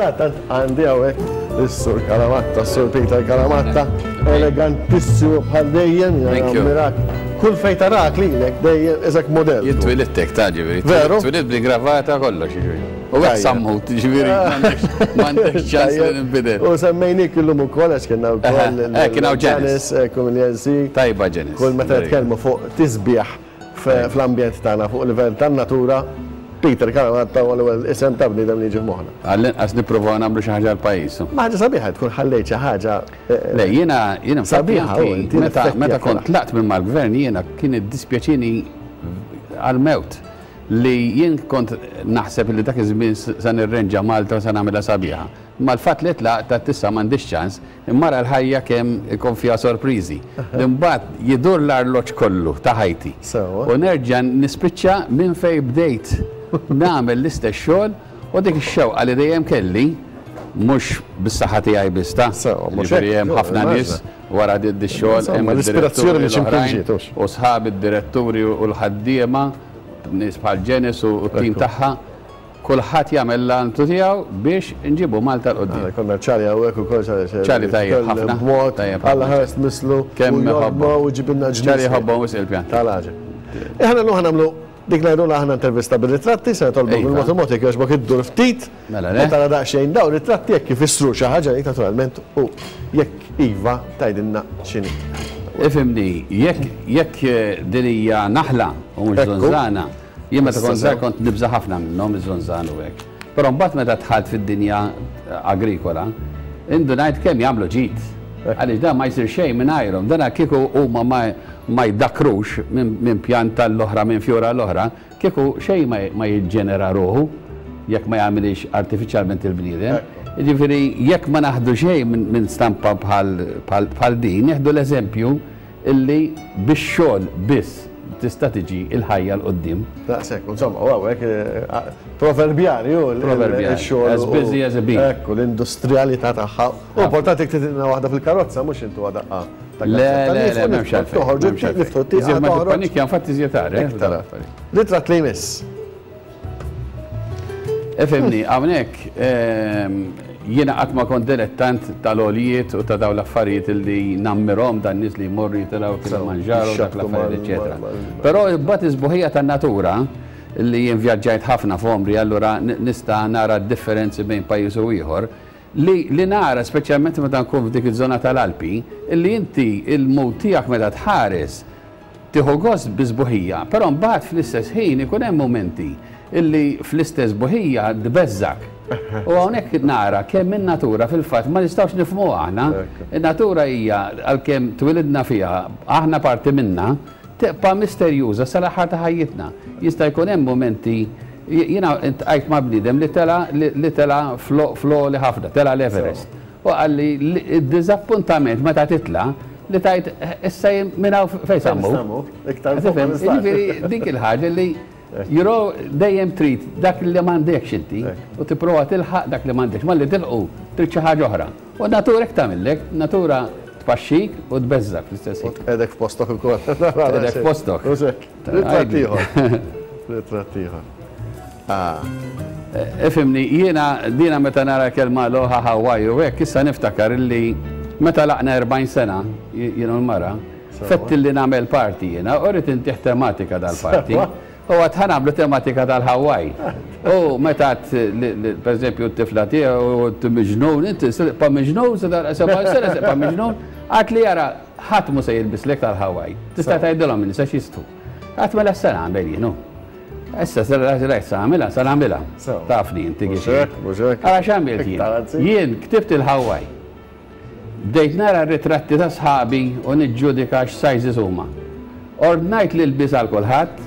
Sadanittant għandi hawnhekk is-Sur Calamatta, s-Sur Peter Calamatta, elegantissimu bħal dejjem, mirak. Kull fejn tarak lilek dejjem isek modell. Jien twilidt hekk ta' ġifieri. Veru? Twilidt bl-ingravata kollox ġifieri. U hekk sammut, ġifieri m'għandekx ċans li ninbidel. U semmejnik illum ukoll għax kienna wkoll. Eh, kien hawn Janice, kumiljensi. Tajba Janice. Kull meta nitkellmu fuq tisbieħ fl-ambjent tagħna fuq livell tan-natura, Peter Calamatta huwa l-ewwel isem ta' bniedem li jiġi f'moħħna. Għall-inqas nippruvaw nagħmlu xi ħaġa għall-pajjiż. Ma ħaġa sabiħa tkun ħallejt xi ħaġa. Le, jiena jiena sabiħa meta meta kont tlaqt minn mal-gvern jiena kien iddispjaċini għall-mewt li jien kont naħseb li dak iż-żmien se nirrenġa Malta u se nagħmilha sabiħa. Imma l-fatt li tlaqt għedt issa m'għandix ċans, imma ara l-ħajja kemm ikun fiha sorpriżi. Li mbagħad jidur l-arloġġ kollu ta' ħajti. U nerġa' nispiċċa minn fejn bdejt nagħmel l-istess xogħol u dik ix-xewqa li dejjem kelli, mhux bis-saħħa tiegħi biss ta'. Jiġifieri hemm ħafna nies wara dix-xogħol, hemm id-diretturi l-oħrajn u sħabi d-diretturi u l-ħaddiema, nies bħal Janice u t-tim tagħha. Kulħadd jagħmel l-almtu tiegħu biex inġibu Malta 'l quddiem. Aħna konna Charlie hawnhekk ukoll Charlie. Charlie tajjeb ħafna. B'mod Tajjeb ħafna. Alla ħares tmisslu. Kemm u iħobbhom. jogħġbu u jġibilna ġmiel. Charlie jħobbhom wisq il-pjanti. Tal-għaġeb. Aħna llum ħa nagħmlu dik ngħidulha aħna intervista bir-ritratti, se nitolbok Iva. bil-mod il-mod jekk jogħġbok iddur ftit. Mela le. U tara daqsxejn dawn ritratti jekk ifissru xi ħaġa għalik naturalment u jekk iva tgħidilna x'inhi. Ifhimni, jekk jekk din hija naħla u mhux Ekku. żunżana, Jien meta kont żgħir kont nibża' ħafna minnhom iż-żunżan u hekk. Però mbagħad meta dħalt fid-dinja agrikola, indunajt kemm jagħmlu ġid. Għaliex dan ma jsir xejn mingħajrhom. Dan kieku huma ma jdakkrux minn pjanta għall-oħra, minn fjura għall-oħra, kieku xejn ma jiġġenera ruħu jekk ma jagħmilhiex artifiċjalment il-bniedem. Jiġifieri jekk ma naħdu xejn minn stampa bħal din, nieħdu l-eżempju Illi bix-xogħol biss tista' tiġi l-ħajja 'l quddiem. Daqshekk, insomma, u hawnhekk proverbjali hu x-xogħol. As busy as a bee. Ekku, l-industrijalità tagħha. U importanti jekk titilna waħda fil-karozza mhux intuha daqqa ta' Le, le, le, m'hemmx għalfejn. Toħorġu, niftħu t-tieqa. Iżjed ma tippanikja infatti iżjed agħar, eh? Iktar agħar. Ritratt li jmiss. Ifhimni, hawnhekk jiena qatt ma kont dilettant tal-għoljiet u ta' dawn l-affarijiet li nammirhom dan nies li jmorru jitilgħu Kilimanjaro dak l-affarijiet eċetera. Però mbagħad is-sbuħija tan-natura li jien vjaġġajt ħafna f'għomri allura nista' nara d-differenzi bejn pajjiż u ieħor, li li nara speċjalment meta nkun f'dik iż-żona tal-Alpi, li inti il-mood tiegħek meta tħares Tieħu gost bis-sbuħija, però mbagħad fl-istess ħin ikun hemm mumenti illi fl-istess sbuħija tbeżżgħek. U hawnhekk nara kemm in-natura fil-fatt ma nistgħux nifhmuha aħna. In-natura hija, għalkemm twilidna fiha, aħna parti minnha, tibqa' misterjuża sal-aħħar ta' ħajjitna. Jista' jkun hemm mumenti, jiena ltqajt ma' bniedem li tela' li tela' fl-għoli ħafna, tela' l-Everest. U qalli li d-diżappuntament meta titla' li tgħid issa jien minn hawn fejn sa mmur. Tifhem? Jiġifieri dik il-ħaġa li you know dejjem trid dak li m'għandekx inti u tipprova tilħaq dak li m'għandekx. Malli tilħqu trid xi ħaġa oħra. U n-natura hekk tagħmillek, natura tpaxxik u tbeżżgħek fl-istess U ħin. tqegħdek f'postok ukoll. Tqegħdek f'postok. Mhux hekk. Ritratt ieħor. Ritratt ieħor. Ah. Ifhimni, jiena dina meta nara kelma Aloha Hawaii u hekk, issa niftakar illi meta laqna 40 sena, jien u l-mara, fett illi nagħmel party jiena, u rrid intih tematika dal-party. U għad ħa nagħmlu tematika tal-Hawaii. U meta għedt per eżempju t-tifla tiegħu, inti miġnun, inti se tibqa' miġnun, se tagħlaq 70 sena se tibqa' miġnun, għad li ara ħadd mhu se jilbislek tal-Hawaii. Tista' tgħidilhom in-nisa x'jistħu. Għad mela x'se nagħmel jien hu. Issa se rajt se nagħmilha, se nagħmilha. Tafni inti kif. Mhux hekk, mhux hekk. Ara x'għamilt jien. Jien ktibt il-Hawaii. Bdejt nara r-ritratti ta' sħabi u niġġudika x'sizes huma. Ordnajt l-ilbies għal kulħadd,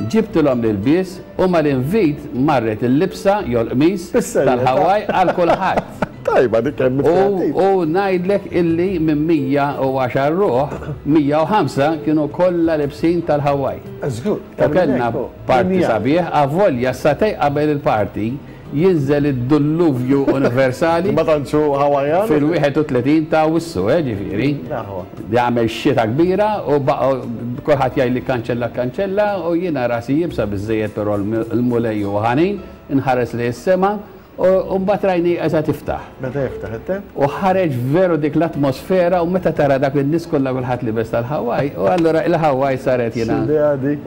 ġibtilhom l-ilbies u mal-invit marret il-libsa jew l-qmis tal-Hawaii għal kulħadd. Tajba dik kemm U u ngħidlek illi minn 110 ruħ, 105 kienu kollha libsin tal-Hawaii. Żgur. U kellna party sabiħ, avolja sagħtejn qabel il-party jinżel id-dulluvju universali. Ma tantx hu Hawaiian. Fil-31 ta' Awwissu, eh, ġifieri. Jagħmel xita kbira u baqgħu kulħadd jgħidli kkanċella kkanċella u jiena rasi iebsa biżżejjed però l-Mulej huwa ħanin, inħares lejn is-sema. U mbagħad rajni eża tiftaħ. Meta jiftaħ it-temp? U ħareġ veru dik l-atmosfera u meta tara dak in-nies kollha kulħadd libes tal-Hawaii, u allura il-Hawaii saret jiena.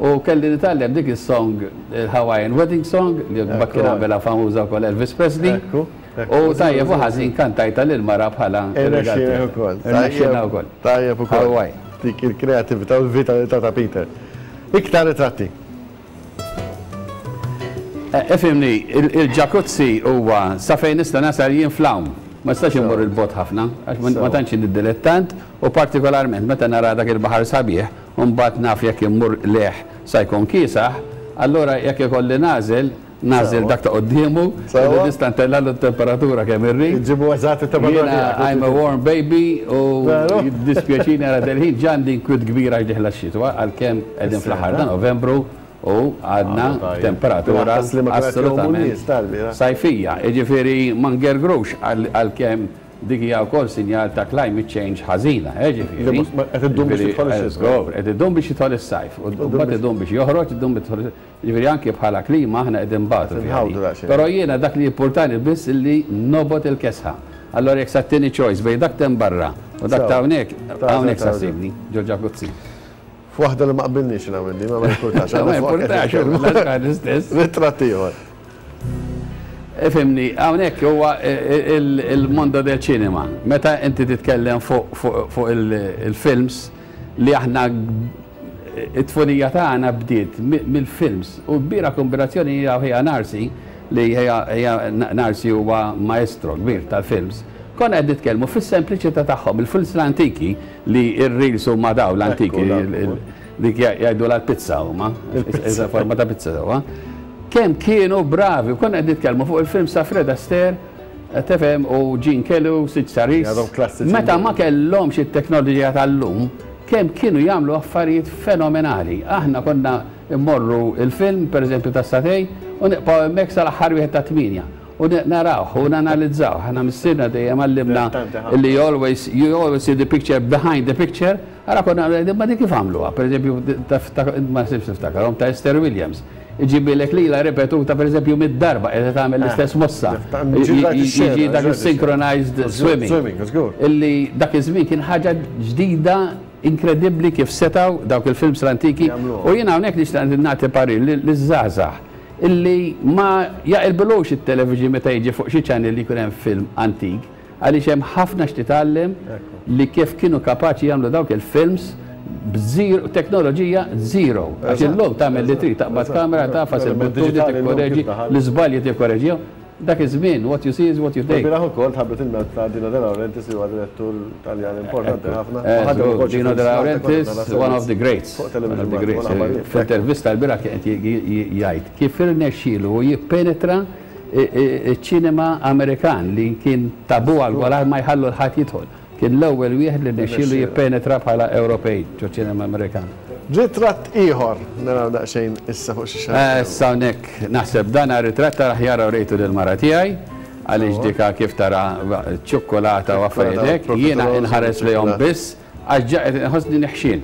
U kelli nitgħallem dik is-song, il-Hawaiian Wedding Song, li mbagħad kien għamilha famuża wkoll Elvis Presley. U tajjeb u ħażin kantajtha lill-mara bħala r-rigal tiegħi. Irnexxielna wkoll. Tajjeb ukoll. Hawaii. Dik il-kreattività u l-vitalità ta' Peter. Iktar ritratti. Ifhimni, il-ġakuzzi huwa sa fejn nista' nasal jien fl-għawm. Ma nistax immur 'il bogħod ħafna, għax ma tantx jien dilettant u partikolarment meta nara dak il-baħar sabiħ u mbagħad naf jekk immur lejh sa jkun kiesaħ, allura jekk ikolli nagħżel, nagħżel dak ta' quddiemu li nista' ntellagħlu t-temperatura kemm irrid. Iġġibu eżatt it-temperatura tiegħek. Jiena I'm a warm baby u jiddispjaċini għal dal-ħin ġa għandi inkwiet kbir għax dieħla x-xitwa għalkemm qegħdin fl-aħħar ta' Novembru u għadna b'temperatura assolutament sajfija. Jiġifieri ma ngergrux għalkemm dik hija wkoll sinjal ta' climate change ħażina, jiġifieri. Qed iddum biex jidħol ix-xitwa. Qed iddum biex jidħol is-sajf. U mbagħad idum biex joħroġ, idum biex jidħol. Jiġifieri anki bħala klima aħna qegħdin nbatu fiha din. Però jiena dak li jimpurtani biss illi nobgħod il-kesħa. Allura jekk sa ttini choice bejn dak t'hemm barra u dak ta' hawnhekk, hawnhekk sa ssibni, ġol-ġakuzzi. F'waħda li ma qbilniex jiena u inti, ma ma jimpurtax. Ma jimpurtax, l-aħħar l-istess. Ritratt ieħor. Ifhimni, hawnhekk huwa il-mondo del cinema. Meta inti titkellem fuq il-films li aħna it-tfulija tagħna bdiet mill-films u kbira kombinazzjoni hija ħija Narsi li ħija Narsi huwa maestro kbir tal-films. Konna qed nitkellmu fis-sempliċità tagħhom, il-films l-antiki li r-reels huma dawn l-antiki dik jgħidulha l-pizza huma, iżda forma ta' pizza sewwa. Kemm kienu bravi, u konna qed nitkellmu fuq il-films ta' Fred Astaire, tifhem, u Gene Kelly u Sid Saris. Meta ma kellhomx it-teknoloġija tal-lum, kemm kienu jagħmlu affarijiet fenomenali. Aħna konna mmorru il-film, pereżempju tas-satej, u nibqgħu hemmhekk sal-aħħar wieħed tat-tmienja. U narawh u nanalizzawh. Aħna missierna dejjem għallimna li you always, you always see the picture behind the picture. Ara konna ngħidu imma dik kif għamluha? Pereżempju, ma nsibx niftakarhom, ta' Esther Williams. Iġibilek lilha ripetuta pereżempju mid-darba qiegħda tagħmel l-istess mossa. Jiġi dak is-synchronized swimming. Illi dak iż-żmien kien ħaġa ġdida inkredibbli kif setgħu dawk il-films l-antiki. U jiena hawnhekk nixtieq nagħti parir liż-żgħażagħ illi ma jaqilbilux it-television meta jiġi fuq xi channel li jkun hemm film antik, għaliex hemm ħafna x'titgħallem li kif kienu kapaċi jagħmlu dawk il-films b'zero, teknoloġija zero. Għax illum tagħmel li trid, taqbad kamera, tagħfas il-buttuni, tikkoreġi, l-iżbalji tikkoreġihom. Dak iż-żmien, what you see is what you take. Ilbieraħ ukoll tħabbret il-mewt ta' Dino De Laurentiis li huwa direttur Taljan importanti ħafna. Dino De Laurentiis, one of the greats. One of the greats. F'intervista lbieraħ kien qed jgħid kif irnexxielu jippenetra ċ-ċinema Amerikan li kien tabu għal kulħadd ma jħallu 'l ħadd jidħol. Kien l-ewwel wieħed li rnexxielu jippenetra bħala Ewropej ġo-ċinema Amerikan. Ritratt ieħor, naraw daqsxejn issa fuq xi xaħat. Issa hawnhekk naħseb dan ritratt tal-aħjar urejtu lill-mara tiegħi għaliex dika kif tara ċ-ċukkulata u affarijiet hekk, jiena inħares lejhom biss għax ġa qed inħossni neħxien.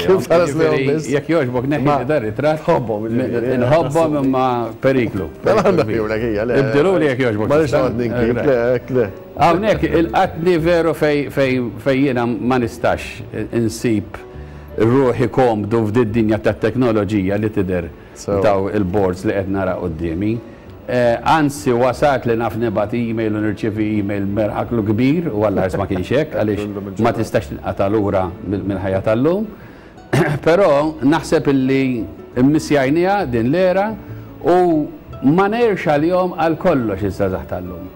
Kif tħares lejhom biss? Jekk jogħġbok neħħi dan ritratt. Tħobbhom, jiġifieri. Inħobbhom imma periklu. Mela nneħħihulek hija, le. Ibdilhuli jekk jogħġbok. Ma rridx noqgħod ninkib, le, hekk le. Hawnhekk ilqatni veru fejn jiena ma nistax insib ruħi komdu f'did-dinja tat-teknoloġija li tidher f'dawn il-boards li qed nara quddiemi. Anzi wasalt li naf nibgħat email u nirċievi email b'miraklu kbir, u Alla ħares ma kienx hekk għaliex ma tistax tinqata' lura mill-ħajja tal-lum. Però naħseb illi mmissjajniha din l-era u ma ngħirx għalihom għal kollox iż-żgħażagħ tal-lum.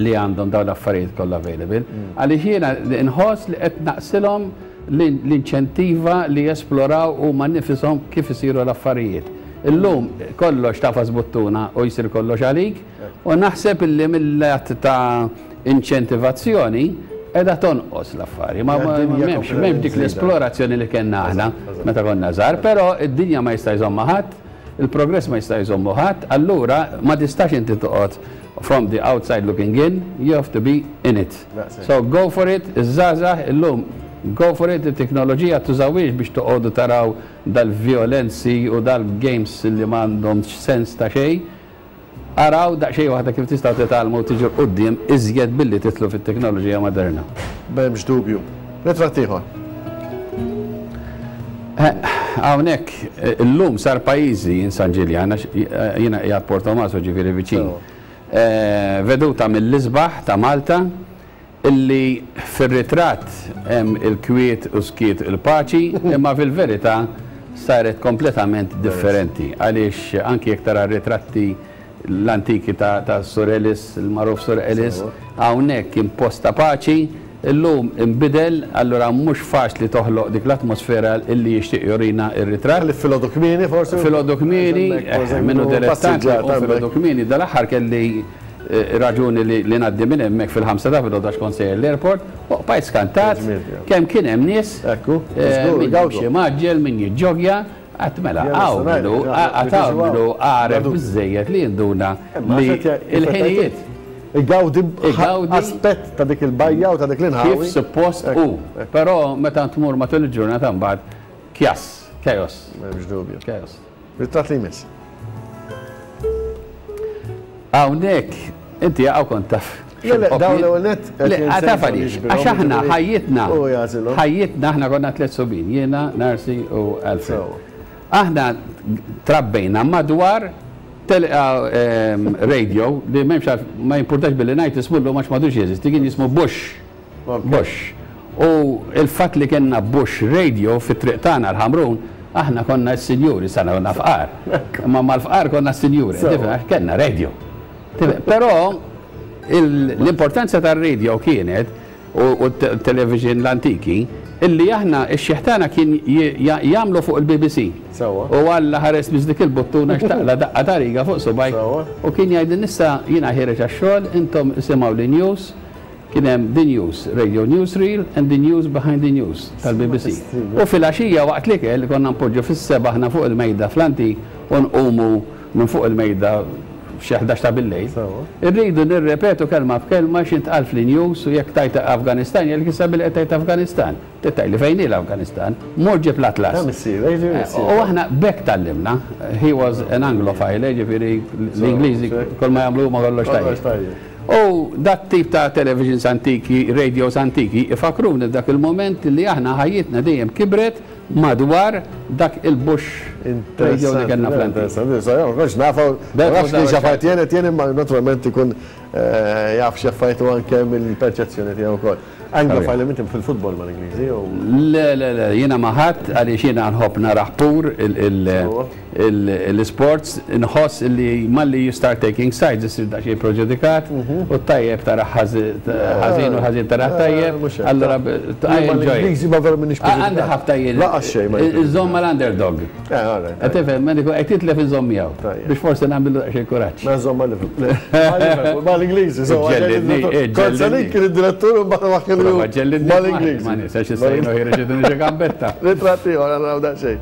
li għandhom dawn l-affarijiet kollha available, għaliex jiena nħoss li qed naqsilhom l-inċentiva li jesploraw huma nnifishom kif isiru l-affarijiet. Illum kollox tagħfas buttuna u jsir kollox għalik u naħseb illi mill-lat ta' inċentivazzjoni qiegħda tonqos l-affari. Ma m'hemmx m'hemmx dik l-esplorazzjoni li kellna aħna meta konna żgħar, però d-dinja ma jista' jżommha ħadd, il-progress ma jista' jżommu ħadd, allura ma tistax inti toqgħod From the outside looking in, you have to be in it. So go for it, iż-żgħażagħ illum go for it, it-teknoloġija tużawhiex biex toqogħdu taraw dal-vjolenzi u dal-games li m'għandhomx sens ta' xejn. Araw daqsxejn waħda kif tistgħu titgħallmu u tiġu 'l quddiem iżjed billi tidħlu fit-teknoloġija moderna. M'hemmx dubju. Ritratt ieħor. Hawnhekk illum sar pajjiżi jien San Ġiljan għax jiena qiegħed Portomaso ġifieri viċin. Veduta mill-isbaħ ta' Malta illi fir-ritratt hemm il-kwiet u skiet il-paċi imma fil-verità saret kompletament differenti għaliex anki jekk tara r-ritratti l-antiki ta' Sur Ellis, il-magħruf Sur Ellis, hawnhekk kien post ta' paċi, illum inbidel, allura mhux faċli toħloq dik l-atmosfera illi jixtieq jurina r-ritratt. Ħlief filgħodu kmieni forsi? Filgħodu kmieni, min hu dilettant jqum filgħodu kmieni. Dal-aħħar kelli raġuni li ngħaddi minn hemmhekk fil-ħamsa ta' filgħodu għax kont sejjer l-airport, u bqajt skantat kemm kien hemm nies, min jimxi mgħaġġel, min jiġġoggja, Għad mela, hawn min hu, għad hawn min hu għaref biżżejjed li jinduna li l-ħinijiet. Igawdi aspett ta' dik il-bajja u ta' dik l-inħawi. Kif suppost hu. Però meta tmur matul il-ġurnata mbagħad kjass, chaos. M'hemmx dubju. Chaos. Ritratt li jmiss. Hawnhekk, inti hawn kont taf. Le, le, dawn l-ewwel nett. Le, taf għaliex, għax aħna ħajjitna, ħajjitna aħna konna tlett subien, jiena, Narcy u Alfred. Aħna trabbejna madwar radio li m'hemmx ma jimpurtax billi ngħid ismu llum għax m'għadux jeżisti, kien jismu Bush. Bush. U l-fatt li kellna Bush radio fit-triq tagħna l-Ħamrun, aħna konna s-sinjuri, sana konna fqar. Imma mal-fqar konna s-sinjuri, għax kellna radio. Però l-importanza tar-radio kienet u t-television l-antiki illi aħna x-xiħ tagħna kien jagħmlu fuq il-BBC. U Alla ħares biss dik il-buttuna x'taqla' daqqa ta' riga fuq subgħajk u kien jgħidilna issa jiena ħiereġ għax-xogħol, intom isimgħu l-news. Kien hemm The News, Radio Newsreel and The News Behind the News tal-BBC. U filgħaxija waqt l-ikel konna npoġġu fis-sebgħa aħna fuq il-mejda fl-antik u nqumu minn fuq il-mejda f'xi 11 ta' billejl. Irridu nirrepetu kelma b'kelma x'intqal fl-news u jekk tgħid Afganistan jgħidlek issa billi qed tgħid Afganistan. Trid tgħidli fejn hi l-Afganistan? Mur ġib l-atlas. U aħna b'hekk tgħallimna. He was an Anglophile, jiġifieri l-Ingliżi kull ma jagħmlu huma kollox tajjeb. U dat-tip ta' televisions antiki, radios antiki, ifakkruni f'dak il-mument li aħna ħajjitna dejjem kibret madwar dak il-Bush radio li kellna fl-antik. Interessanti, interessanti. Ma kontx nafha, ma nafx kien x'affarijiet jien qed jien imma naturalment ikun jaf x'affarijiet u anke mill-perċezzjoni tiegħu wkoll. Anglophile inti fil-futbol mal-Ingliżi jew? Le, le, le, jiena ma' ħadd għaliex jiena nħobb narah pur l-isports, inħoss li malli you start taking sides issir daqsxejn preġudikat u t-tajjeb tarah ħażin u l-ħażin tarah tajjeb, allura I enjoy. Mal-Ingliżi ma vera m'iniex preġudikat. Għandi ħabta jien. Lanqas xejn ma. Inżomm mal-underdog. Qed tifhem, meta jkun qed jitlef inżomm miegħu. Biex forsi nagħmillu daqsxejn kuraġġ. Mela żomm ma' Liverpool. Ma' Liverpool, ma' l-Ingliżi, insomma. Ġellidni, Kont se ninki lid-direttur u mbagħad ma' kienu. Ġellidni. Ma' l-Ingliżi. Ma nisax issa jienu ħireġ iduni xi gambetta. Ritratt ieħor naraw daqsxejn.